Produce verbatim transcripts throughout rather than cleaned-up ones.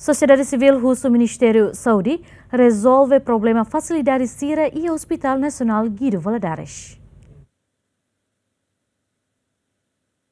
Sosiedade sivíl husu Ministériu Saúde rezolve problema fasilidade sira iha Hospital Nasionál Guido Valadares.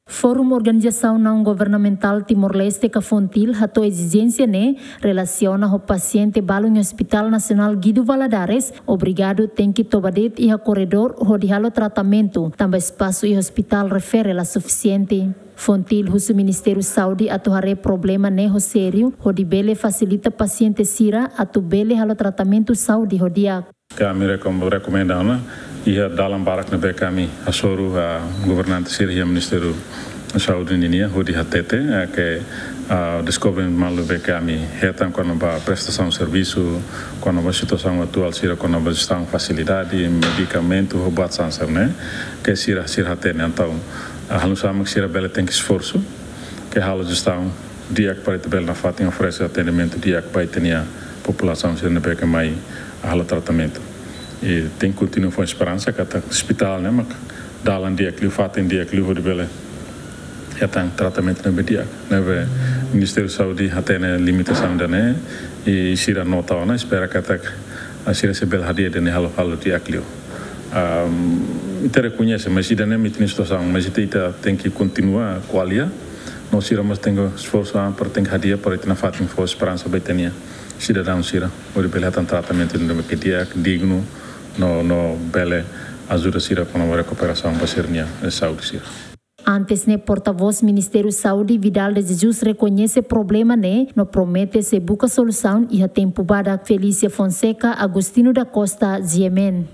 Forum Organizasaun Naun Governamentál Timor-Leste ka FONGTIL hato'o ezijénsia ne'e relasiona ho pasiente balun iha Hospital Nasionál Guido Valadares, obrigadu tenke toba de'it iha korredór hodi halo tratamentu, tanba espasu iha hospital refere la sufisiente. FONGTIL husu Ministériu Saúde atu haree problema ne'e ho sériu, hodi bele fasilita pasiente sira atu bele halo tratamentu saúde ho di'ak. Ami rekom-, rekomenda ona, iha dalan barak ne'ebé ami hasoru ba governante sira iha Ministériu Saúde ninian, hodi hatete, eh, ke, ah, deskobre malu ne'ebé ami hetan kona-ba prestasaun servisu, kona-ba situasaun atuál sira, kona-ba jestaun fasilidade, medikamentu, ho buat sansar ne'e, ke sira, sira hatene. Entaun, ah, halo sama sira bele tenke esforsu, ke halo jestaun di'ak para ita bele nafatin oferese atendimentu di'ak ba ita-nia populasaun sira ne'ebé ke mai halo tratamentu. I tenke kontinua fó esperansa katak hospital ne'e mak dalan di'ak liu, fatin di'ak liu hodi bele hetan tratamentu ne'ebé di'ak. Ne'ebé Ministériu Saúde hatene limitasaun ida-ne'e, i sira nota ona, espera katak, ah, sira sei bele hadi'a ida-ne'e halo, halo di'ak liu. Ahm, ita rekoñese, mas ida-ne'e mak ita-nia situasaun, mas ita, ita tenke kontinua ko'alia, no sira mós tenke esforsu an para tenke hadi'a para ita nafatin fó esperansa ba ita-nia sidadaun sira, hodi bele hetan tratamentu ne'ebé ke di'ak, dignu, no, no bele ajuda sira kona-ba rekuperasaun ba sira-nia, eh, saúde sira. Antes ne'e, portavós Ministériu Saúde, Vidal de Jesus, rekoñese problema ne'e, no promete sei buka solusaun iha tempu badak. Felícia Fonseca, Agostinho da Costa, G M N.